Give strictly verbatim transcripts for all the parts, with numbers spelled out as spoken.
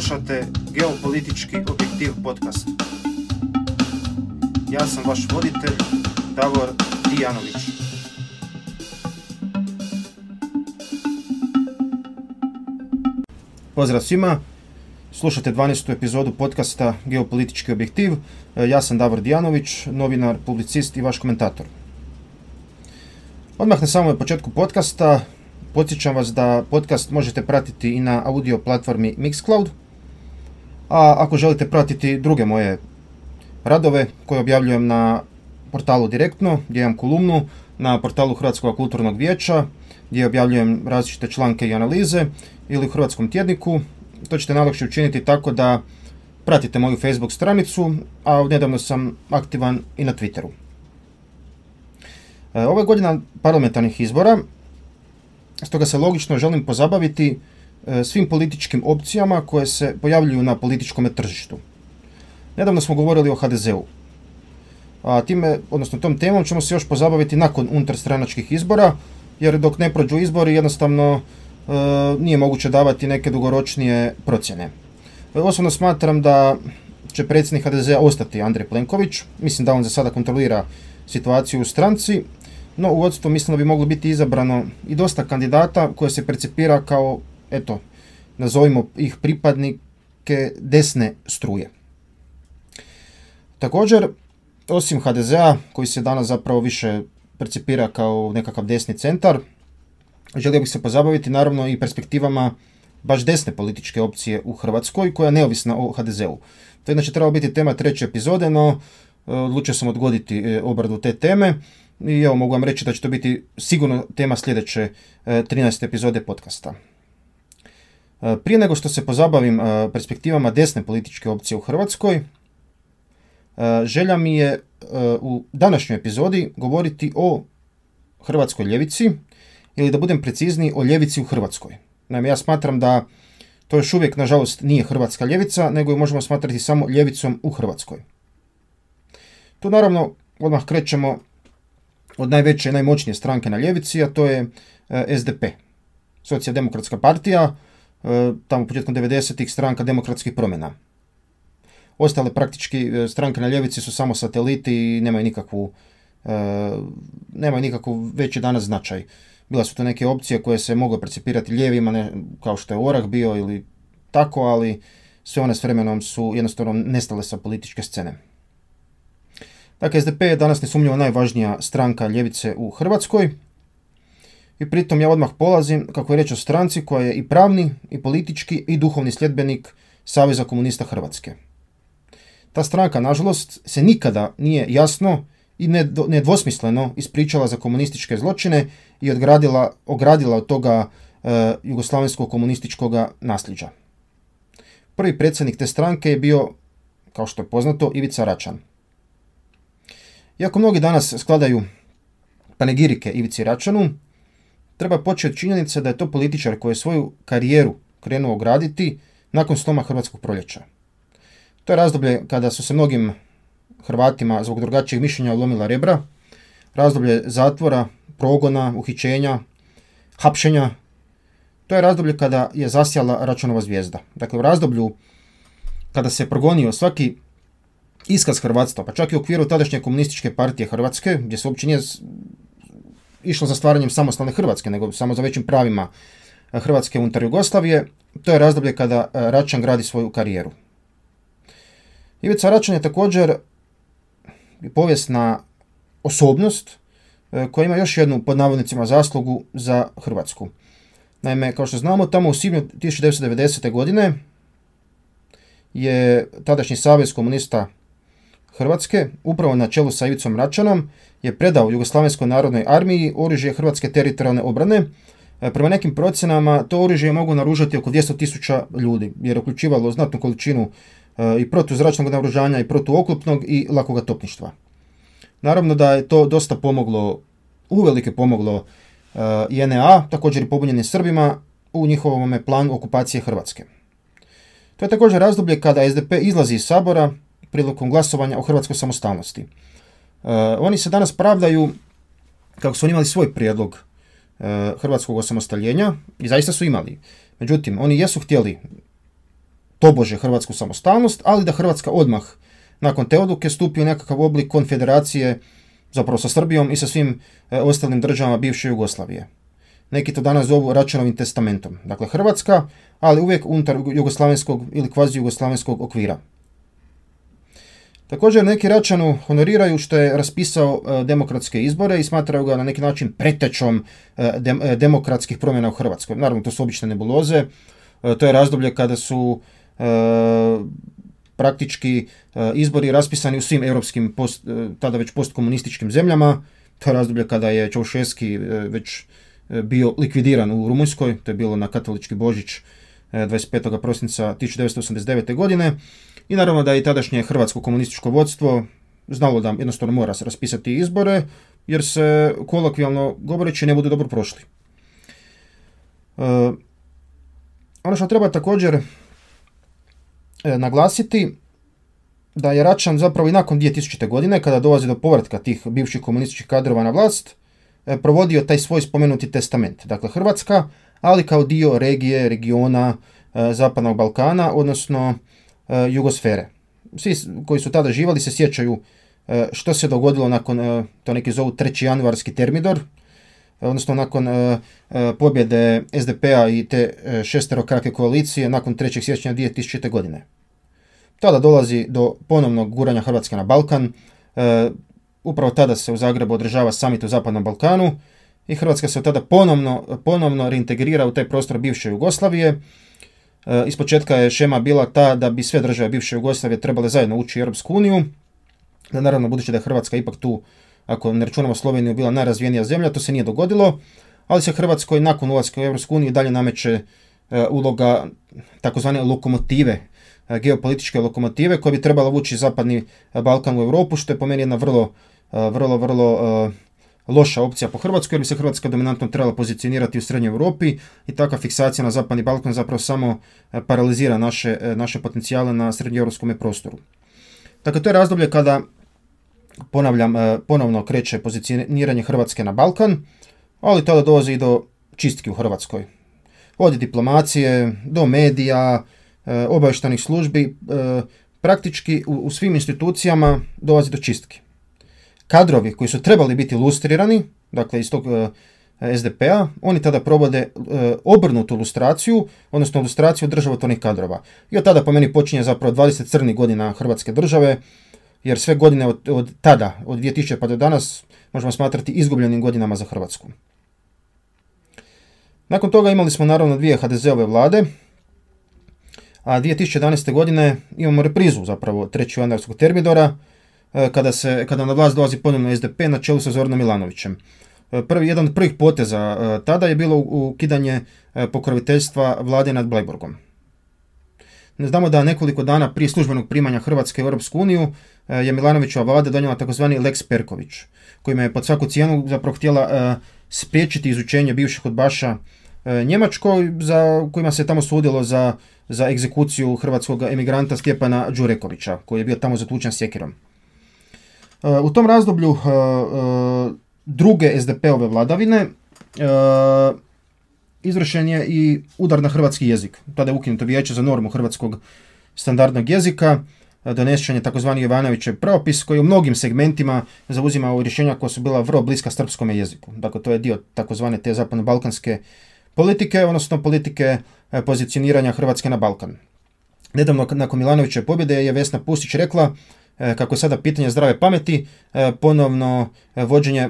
Slušate Geopolitički objektiv podcast. Ja sam vaš voditelj, Davor Dijanović. Pozdrav svima, slušate dvanaestu epizodu podcasta Geopolitički objektiv. Ja sam Davor Dijanović, novinar, publicist i vaš komentator. Odmah na samom početku podcasta podsjećam vas da podcast možete pratiti i na audio platformi Mixcloud, a ako želite pratiti druge moje radove koje objavljujem na portalu Direktno, gdje imam kolumnu, na portalu Hrvatskog kulturnog vijeća, gdje objavljujem različite članke i analize, ili u Hrvatskom tjedniku, to ćete najlakše učiniti tako da pratite moju Facebook stranicu, a nedavno sam aktivan i na Twitteru. Ovo je godina parlamentarnih izbora, stoga se logično želim pozabaviti svim političkim opcijama koje se pojavljuju na političkom tržištu. Nedavno smo govorili o ha de zeu, a time, odnosno tom temom ćemo se još pozabaviti nakon unutarstranačkih izbora, jer dok ne prođu izbori jednostavno e, nije moguće davati neke dugoročnije procjene. Osobno smatram da će predsjednik ha de zea ostati Andrej Plenković, mislim da on za sada kontrolira situaciju u stranci, no u vodstvu mislim da bi moglo biti izabrano i dosta kandidata koje se percipira kao, eto, nazovimo ih pripadnike desne struje. Također, osim ha de zea, koji se danas zapravo više percipira kao nekakav desni centar, želio bih se pozabaviti naravno i perspektivama baš desne političke opcije u Hrvatskoj, koja je neovisna o ha de zeu. To je inače trebalo biti tema treće epizode, no odlučio sam odgoditi obradu te teme i evo mogu vam reći da će to biti sigurno tema sljedeće trinaeste epizode podcasta. Prije nego što se pozabavim perspektivama desne političke opcije u Hrvatskoj, želja mi je u današnjoj epizodi govoriti o hrvatskoj ljevici, ili da budem precizniji, o ljevici u Hrvatskoj. Naime, ja smatram da to još uvijek, nažalost, nije hrvatska ljevica, nego ju možemo smatrati samo ljevicom u Hrvatskoj. Tu naravno odmah krećemo od najveće i najmoćnije stranke na ljevici, a to je es de pe, Socijaldemokratska partija, tamo početkom devedesetih stranka demokratskih promjena. Ostale praktički stranke na ljevici su samo sateliti i nemaju nikakvu, e, nemaju nikakvu veći danas značaj. Bila su to neke opcije koje se mogu percipirati lijevima, ne, kao što je Orah bio ili tako, ali sve one s vremenom su jednostavno nestale sa političke scene. Dakle, es de pe je danas nesumnjivo najvažnija stranka ljevice u Hrvatskoj i pritom ja odmah polazim, kako je reč o stranci koja je i pravni, i politički, i duhovni sljedbenik Saveza komunista Hrvatske. Ta stranka, nažalost, se nikada nije jasno i nedvosmisleno ispričala za komunističke zločine i odgradila, ogradila od toga e, jugoslavenskog komunističkog nasljeđa. Prvi predsjednik te stranke je bio, kao što je poznato, Ivica Račan. Iako mnogi danas skladaju panegirike Ivici Račanu, treba početi od činjenice da je to političar koji je svoju karijeru krenuo graditi nakon sloma Hrvatskog proljeća. To je razdoblje kada su se mnogim Hrvatima zbog drugačijeg mišljenja lomila rebra, razdoblje zatvora, progona, uhićenja, hapšenja. To je razdoblje kada je zasjala Račanova zvijezda. Dakle, u razdoblju kada se progonio svaki iskaz hrvatstva, pa čak i u okviru tadašnje komunističke partije Hrvatske, gdje se uopće nije išlo za stvaranjem samostalne Hrvatske, nego samo za većim pravima Hrvatske unutar Jugoslavije, to je razdoblje kada Račan gradi svoju karijeru. Ivica Račan je također povijesna osobnost koja ima još jednu, pod navodnicima, zaslugu za Hrvatsku. Naime, kao što znamo, tamo u svibnju tisuću devetsto devedesete. godine je tadašnji Savez komunista Hrvatske, upravo na čelu sa Ivicom Račanom, je predao Jugoslavenskoj narodnoj armiji oružje Hrvatske teritorijalne obrane. Prema nekim procjenama to oružje je moglo naoružati oko dvjesto tisuća ljudi, jer je uključivalo znatnu količinu i protuzračnog naoružanja i protuoklopnog i lakoga topništva. Naravno da je to dosta pomoglo, uvelike pomoglo i en e a, također i pobunjenim Srbima, u njihovom planu okupacije Hrvatske. To je također razdoblje kada es de pe izlazi iz Sabora prilikom glasovanja o hrvatskoj samostalnosti. Oni se danas pravdaju kako su oni imali svoj prijedlog hrvatskog osamostaljenja i zaista su imali. Međutim, oni jesu htjeli tobože hrvatsku samostalnost, ali da Hrvatska odmah nakon te odluke stupi u nekakav oblik konfederacije, zapravo sa Srbijom i sa svim e, ostalim državama bivše Jugoslavije. Neki to danas zovu Račanovim testamentom. Dakle, Hrvatska, ali uvijek unutar jugoslavenskog ili kvazi jugoslavenskog okvira. Također neki Račanu honoriraju što je raspisao e, demokratske izbore i smatraju ga na neki način pretečom e, dem, e, demokratskih promjena u Hrvatskoj. Naravno, to su obične nebuloze. E, to je razdoblje kada su e, praktički e, izbori raspisani u svim europskim, post, e, tada već postkomunističkim zemljama. To je razdoblje kada je Čaušesky e, već e, bio likvidiran u Rumunjskoj. To je bilo na katolički Božić e, dvadeset petog prosinca tisuću devetsto osamdeset devete. godine. I naravno da je i tadašnje hrvatsko komunističko vodstvo znalo da jednostavno mora se raspisati izbore, jer se kolokvijalno govoreći ne budu dobro prošli. E, ono što treba također e, naglasiti, da je Račan zapravo i nakon dvije tisućite. godine, kada dolazi do povratka tih bivših komunističkih kadrova na vlast, e, provodio taj svoj spomenuti testament. Dakle, Hrvatska, ali kao dio regije, regiona e, Zapadnog Balkana, odnosno Jugosfere. Svi koji su tada živali se sjećaju što se dogodilo nakon, to neki zovu treći januarski termidor, odnosno nakon pobjede es de pe a i te šesterokrake koalicije nakon trećeg siječnja dvije tisućite. godine. Tada dolazi do ponovnog guranja Hrvatske na Balkan. Upravo tada se u Zagrebu održava summit u Zapadnom Balkanu i Hrvatska se tada ponovno, ponovno reintegrira u taj prostor bivše Jugoslavije. Ispočetka je šema bila ta da bi sve države bivše Jugoslavije trebale zajedno ući u Europsku uniju. Da naravno, budući da je Hrvatska ipak tu, ako ne računamo Sloveniju, bila najrazvijenija zemlja, to se nije dogodilo, ali se Hrvatskoj nakon ulaska u Europsku uniju dalje nameće uloga takozvane lokomotive, geopolitičke lokomotive koja bi trebala vući Zapadni Balkan u Europu, što je po meni jedna vrlo, vrlo, vrlo loša opcija po Hrvatskoj, jer bi se Hrvatska dominantno trebala pozicionirati u Srednjoj Europi i takva fiksacija na Zapadni Balkan zapravo samo paralizira naše, naše potencijale na srednjoeuropskom prostoru. Dakle, to je razdoblje kada, ponavljam, ponovno kreće pozicioniranje Hrvatske na Balkan, ali tada dolazi i do čistki u Hrvatskoj. Od diplomacije, do medija, obavještajnih službi, praktički u, u svim institucijama dolazi do čistki. Kadrovi koji su trebali biti lustrirani, dakle iz tog uh, es de pe a, oni tada provode uh, obrnutu lustraciju, odnosno lustraciju državotvornih kadrova. I od tada po meni počinje zapravo dvadeset crnih godina Hrvatske države, jer sve godine od, od tada, od dvije tisućite. pa do danas, možemo smatrati izgubljenim godinama za Hrvatsku. Nakon toga imali smo naravno dvije ha de ze-ove vlade, a dvije tisuće jedanaeste. godine imamo reprizu zapravo trećeg januarskog termidora, kada, se, kada na vlast dolazi ponovno es de pe na čelu sa Zoranom Milanovićem. Prvi, jedan od prvih poteza tada je bilo ukidanje pokroviteljstva vlade nad Bleiburgom. Ne znamo da nekoliko dana prije službenog primanja Hrvatske u Europsku uniju je Milanovićeva vlada donijela takozvani Lex Perković, kojima je pod svaku cijenu zapravo htjela spriječiti izučenje bivših udbaša Njemačkoj, za kojima se tamo sudilo za, za egzekuciju hrvatskog emigranta Stjepana Đurekovića, koji je bio tamo zatučen sjekirom. U tom razdoblju druge es de pe-ove vladavine izvršen je i udar na hrvatski jezik. Tada je ukinuto vijeće za normu hrvatskog standardnog jezika, donesen je takozvani Jovanovićev pravopis koji u mnogim segmentima zauzimao rješenja koja su bila vrlo bliska srpskom jeziku. Dakle, to je dio takozvane te zapadno-balkanske politike, odnosno politike pozicioniranja Hrvatske na Balkan. Nedavno nakon Milanovićeve pobjede je Vesna Pusić rekla kako je sada pitanje zdrave pameti ponovno vođenje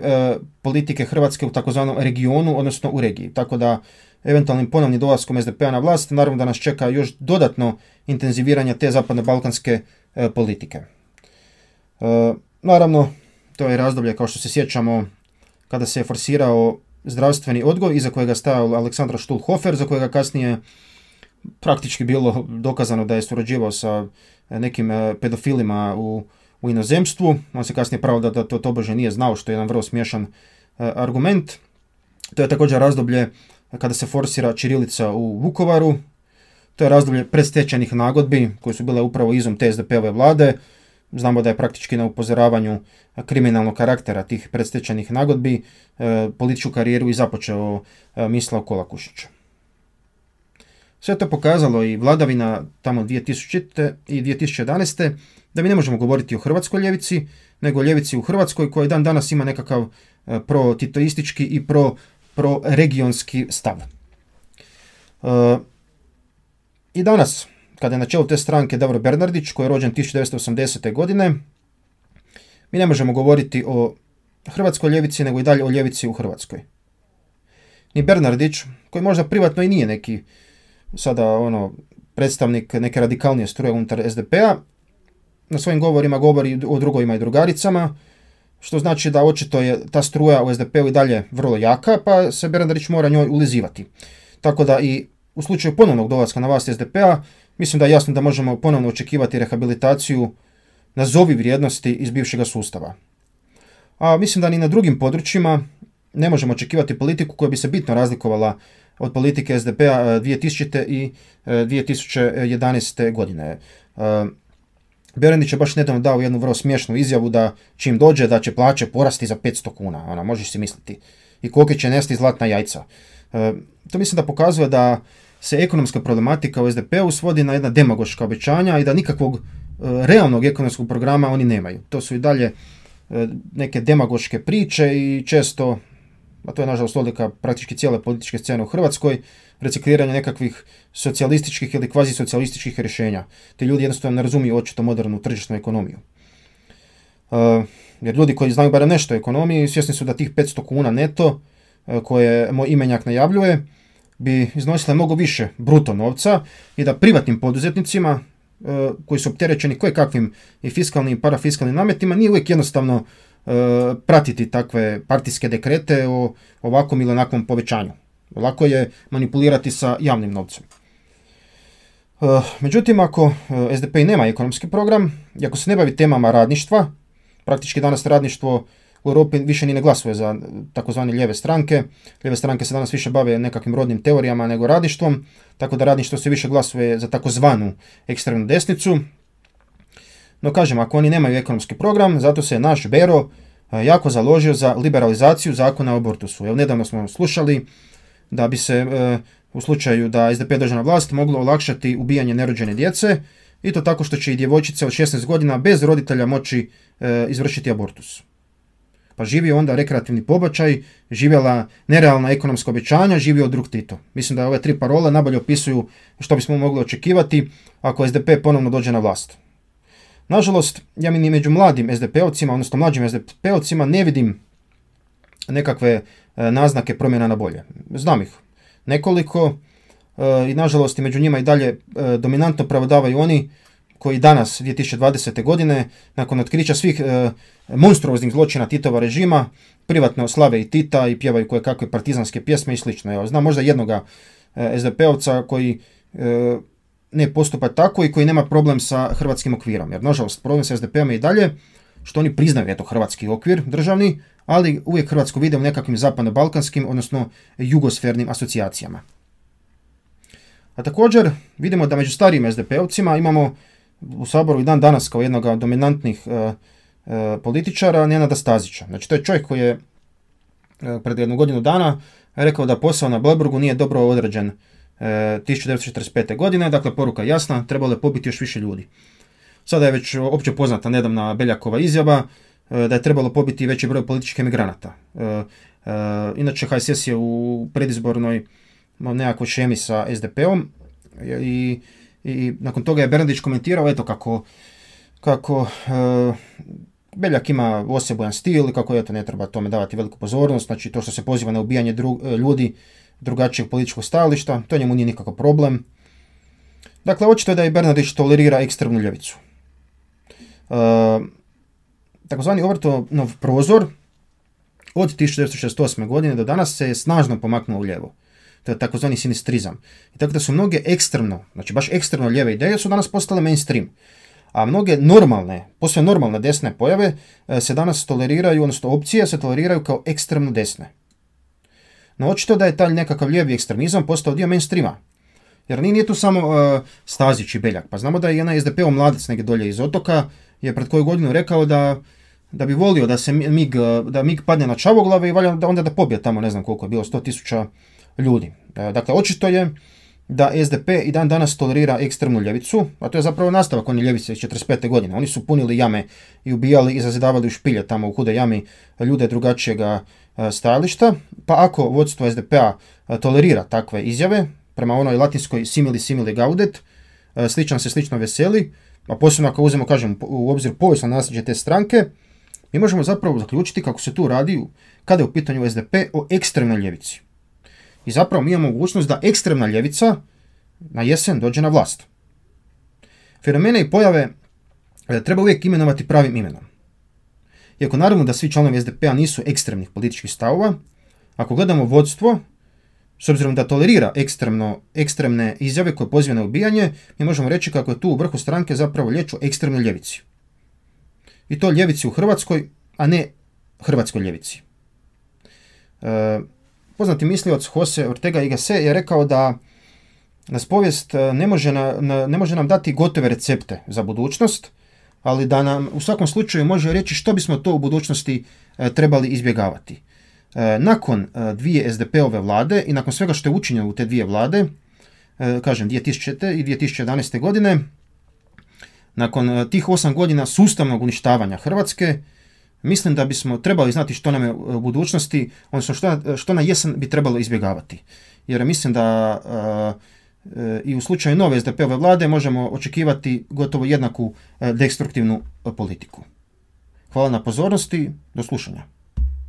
politike Hrvatske u takozvanom regionu, odnosno u regiji. Tako da eventualnim ponovnim dolaskom es de pe-a na vlast, naravno da nas čeka još dodatno intenziviranje te zapadno-balkanske politike. Naravno, to je razdoblje, kao što se sjećamo, kada se je forsirao zdravstveni odgoj, iza kojega stajao Aleksandar Štulhofer, za kojega kasnije praktički bilo dokazano da je surađivao sa nekim pedofilima u, u inozemstvu. On se kasnije pravda da to tobože nije znao, što je jedan vrlo smiješan argument. To je također razdoblje kada se forsira ćirilica u Vukovaru. To je razdoblje predstečajnih nagodbi koje su bile upravo izum te es de pe-ove vlade. Znamo da je praktički na upozoravanju kriminalnog karaktera tih predstečajnih nagodbi e, političku karijeru i započeo e, Mislav Kolakušić. Sve to pokazalo i vladavina tamo dvije tisućite. i dvije tisuće jedanaeste. da mi ne možemo govoriti o hrvatskoj ljevici, nego o ljevici u Hrvatskoj koja dan danas ima nekakav pro-titoistički i pro, pro-regionski stav. E, I danas, kada je na čelu te stranke Davor Bernardić, koji je rođen tisuću devetsto osamdesete. godine, mi ne možemo govoriti o hrvatskoj ljevici, nego i dalje o ljevici u Hrvatskoj. Ni Bernardić, koji možda privatno i nije neki sada ono predstavnik neke radikalnije struje unutar es de pe-a, na svojim govorima govori o drugovima i drugaricama, što znači da očito je ta struja u es de pe-u i dalje vrlo jaka, pa se Bernardić mora njoj ulizivati. Tako da i u slučaju ponovnog dolaska na vlast es de pe-a, mislim da je jasno da možemo ponovno očekivati rehabilitaciju nazovi vrijednosti iz bivšega sustava. A mislim da ni na drugim područjima ne možemo očekivati politiku koja bi se bitno razlikovala od politike es de pe-a dvije tisućite. i dvije tisuće jedanaeste. godine. Bernardić je baš nedavno dao jednu vrlo smiješnu izjavu da čim dođe da će plaće porasti za petsto kuna. Ona, možeš si misliti. I kolike će nesti zlatna jajca. To mislim da pokazuje da se ekonomska problematika u es de pe-u svodi na jedna demagoška obećanja i da nikakvog realnog ekonomskog programa oni nemaju. To su i dalje neke demagoške priče i često, a to je nažalost odlika praktički cijele političke scene u Hrvatskoj, recikliranje nekakvih socijalističkih ili kvazi socijalističkih rješenja. Ti ljudi jednostavno ne razumiju očito modernu tržišnu ekonomiju. Uh, jer ljudi koji znaju barem nešto o ekonomiji svjesni su da tih petsto kuna neto uh, koje moj imenjak najavljuje bi iznosile mnogo više bruto novca i da privatnim poduzetnicima uh, koji su opterećeni kojekakvim i fiskalnim i parafiskalnim nametima nije uvijek jednostavno uh, pratiti takve partijske dekrete o ovakvom ili onakvom povećanju. Lako je manipulirati sa javnim novcem. Uh, međutim, ako uh, es de pe nema ekonomski program i ako se ne bavi temama radništva, praktički danas radništvo u Europi više ni ne glasuje za takozvane lijeve stranke. Lijeve stranke se danas više bave nekakvim rodnim teorijama nego radništvom, tako da radništvo se više glasuje za takozvanu ekstremnu desnicu. No kažem, ako oni nemaju ekonomski program, zato se naš Bero uh, jako založio za liberalizaciju zakona o abortusu. Evo, nedavno smo slušali da bi se e, u slučaju da es de pe dođe na vlast moglo olakšati ubijanje nerođene djece i to tako što će i djevojčice od šesnaest godina bez roditelja moći e, izvršiti abortus. Pa živio onda rekreativni pobačaj, živjela nerealna ekonomska obećanja, živio drug Tito. Mislim da ove tri parole najbolje opisuju što bismo mogli očekivati ako es de pe ponovno dođe na vlast. Nažalost, ja mi ni među mladim es de pe-ovcima, odnosno mlađim es de pe-ovcima ne vidim nekakve naznake promjena na bolje. Znam ih nekoliko e, i nažalost i među njima i dalje e, dominantno prevladavaju oni koji danas, dvije tisuće dvadesete. godine, nakon otkrića svih e, monstruoznih zločina Titova režima, privatno slave i Tita i pjevaju koje kakve partizanske pjesme i slično. Evo, znam možda jednoga e, es de pe-ovca koji e, ne postupa tako i koji nema problem sa hrvatskim okvirom. Jer nažalost problem sa es de pe-om je i dalje što oni priznaju eto hrvatski okvir državni, ali uvijek Hrvatsku vide u nekakvim zapadno-balkanskim, odnosno jugosfernim asocijacijama. A također vidimo da među starijim es de pe-ovcima imamo u Saboru i dan danas kao jednog od dominantnih e, e, političara Nenada Stazića. Znači to je čovjek koji je e, pred jednu godinu dana rekao da posao na Bleiburgu nije dobro odrađen e, tisuću devetsto četrdeset pete. godine, dakle poruka jasna, trebalo je pobiti još više ljudi. Sada je već opće poznata nedavna Beljakova izjava da je trebalo pobiti veći broj političkih emigranata. E, e, inače, ha es es je u predizbornoj nekakvoj šemi sa es de pe-om i, i nakon toga je Bernardić komentirao eto kako, kako e, Beljak ima osebujan stil i kako eto ne treba tome davati veliku pozornost, znači to što se poziva na ubijanje dru, ljudi drugačijeg političkog stajališta, to njemu nije nikakav problem. Dakle, očito je da i Bernardić tolerira ekstremnu ljevicu. E, Takozvani Overtonov prozor od tisuću devetsto šezdeset osme. godine do danas se je snažno pomaknuo u lijevo. To je takozvani sinistrizam. I tako da su mnoge ekstremno, znači baš ekstremno lijeve ideje su danas postale mainstream. A mnoge normalne, posve normalne desne pojave se danas toleriraju, odnosno opcije se toleriraju kao ekstremno desne. No očito da je taj nekakav lijevi ekstremizam postao dio mainstreama. Jer nije tu samo uh, Stazić i Beljak. Pa znamo da je jedan es de pe-ov mladac negdje dolje iz Otoka je pred koju godinu rekao da da bi volio da se mig, da mig padne na Čavoglave i valja da onda da pobije tamo ne znam koliko je bilo, sto tisuća ljudi. Dakle, očito je da S D P i dan danas tolerira ekstremnu ljevicu, a to je zapravo nastavak one ljevice iz četrdeset pete godine. Oni su punili jame i ubijali i zazidavali u špilje tamo u Hudoj jami ljude drugačijega stajališta, pa ako vodstvo S D P-a tolerira takve izjave, prema onoj latinskoj simili simili gaudet, sličan se slično veseli, a posebno ako uzmemo, kažem, u obzir povijesno nasljeđe te stranke, mi možemo zapravo zaključiti kako se tu radi, kada je u pitanju S D P, o ekstremnoj ljevici. I zapravo mi imamo mogućnost da ekstremna ljevica na jesen dođe na vlast. Fenomene i pojave treba uvijek imenovati pravim imenom. Iako naravno da svi članovi S D P-a nisu ekstremnih političkih stavova, ako gledamo vodstvo, s obzirom da tolerira ekstremno, ekstremne izjave koje pozive na ubijanje, mi možemo reći kako je tu u vrhu stranke zapravo riječ o ekstremnoj ljevici. I to ljevici u Hrvatskoj, a ne hrvatskoj ljevici. E, poznati mislioc Jose Ortega y Gasset je rekao da nas povijest ne može, na, na, ne može nam dati gotove recepte za budućnost, ali da nam u svakom slučaju može reći što bismo to u budućnosti e, trebali izbjegavati. E, nakon e, dvije S D P-ove vlade i nakon svega što je učinjeno u te dvije vlade, e, kažem dvije tisućite. i dvije tisuće jedanaeste. godine, nakon e, tih osam godina sustavnog uništavanja Hrvatske, mislim da bismo trebali znati što nam je u budućnosti, odnosno što, što na jesen bi trebalo izbjegavati. Jer mislim da e, e, i u slučaju nove S D P-ove vlade možemo očekivati gotovo jednaku e, destruktivnu politiku. Hvala na pozornosti, do slušanja.